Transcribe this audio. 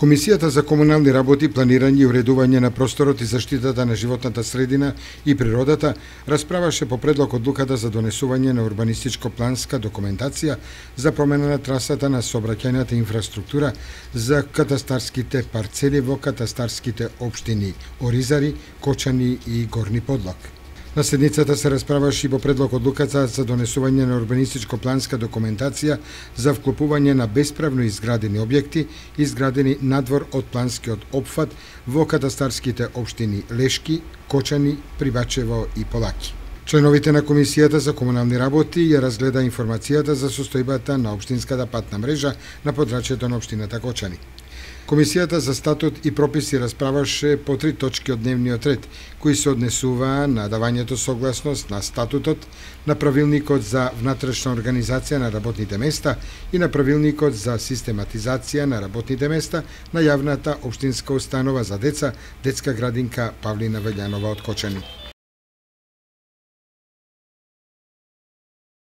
Комисијата за комунални работи, планирање и уредување на просторот и заштитата на животната средина и природата расправаше по предлог одлуката за донесување на урбанистичко-планска документација за промена на трасата на сообраќајната инфраструктура за катастарските парцели во катастарските општини Оризари, Кочани и Горни Подлог. На седницата се расправаше и по предлог одлуката за донесување на урбанистичко-планска документација за вклопување на бесправно изградени објекти, изградени надвор од планскиот опфат во катастарските општини Лешки, Кочани, Прибачево и Полаки. Членовите на Комисијата за комунални работи ја разгледа информацијата за состојбата на општинската патна мрежа на подрачјето на општината Кочани. Комисијата за статут и прописи расправаше по 3 точки од дневниот ред, кои се однесуваа на давањето согласност на статутот, на правилникот за внатрешна организација на работните места и на правилникот за систематизација на работните места на јавната општинска установа за деца, детска градинка Павлина Велјанова од Кочани.